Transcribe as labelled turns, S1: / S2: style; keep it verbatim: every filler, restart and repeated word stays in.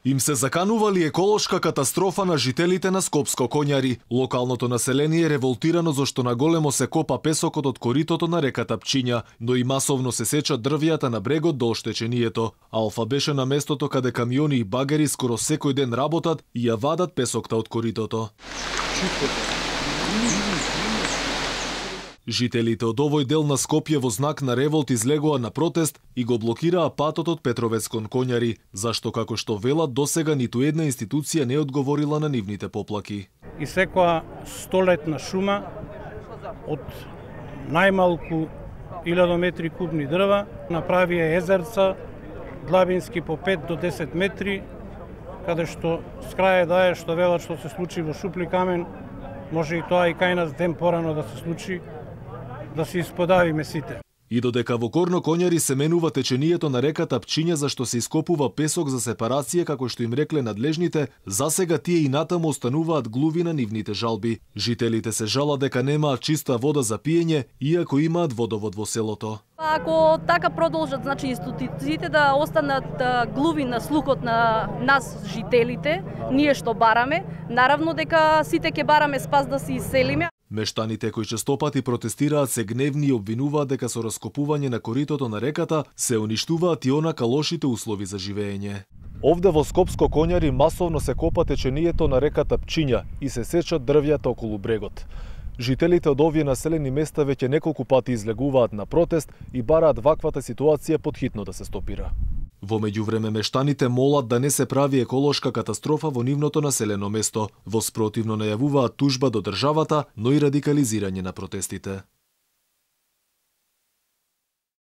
S1: Им се заканували еколошка катастрофа на жителите на Скопско Коњари. Локалното население е револтирано зашто на големо се копа песокот од коритото на реката Пчиња, но и масовно се сечат дрвијата на брегот до оштеченијето. Алфа беше на местото каде камиони и багери скоро секој ден работат и ја вадат песокта од коритото. Жителите од овој дел на Скопје во знак на револт излегоа на протест и го блокираа патот од Петровец кон Коњари, зашто како што велат досега ниту една институција не одговорила на нивните поплаки.
S2: И секоја столетна шума од најмалку илјада метри кубни дрва направија езерца длабински по пет до десет метри, каде што с крај дае што велат што се случи во Шупли камен, може и тоа и кај нас ден порано да се случи, да се исподавиме сите.
S1: И додека во Горно Коњари се менува теченијето на реката Пчиња зашто се ископува песок за сепарација како што им рекле надлежните, засега тие и натаму остануваат глуви на нивните жалби. Жителите се жалат дека немаат чиста вода за пиење, иако имаат водовод во селото.
S3: Ако така продолжат, значи институциите да останат глуви на слухот на нас жителите, ние што бараме, наравно дека сите ќе бараме спас да се иселиме.
S1: Мештаните кои честопати протестираат се гневни и обвинуваат дека со раскопување на коритото на реката се уништуваат и онака лошите услови за живење. Овде во Скопско Коњари масовно се копа теченијето на реката Пчиња и се сечат дрвјата околу брегот. Жителите од овие населени места веќе неколку пати излегуваат на протест и бараат ваквата ситуација потхитно да се стопира. Во меѓувреме мештаните молат да не се прави еколошка катастрофа во нивното населено место. Во спротивно најавуваат тужба до државата, но и радикализирање на протестите.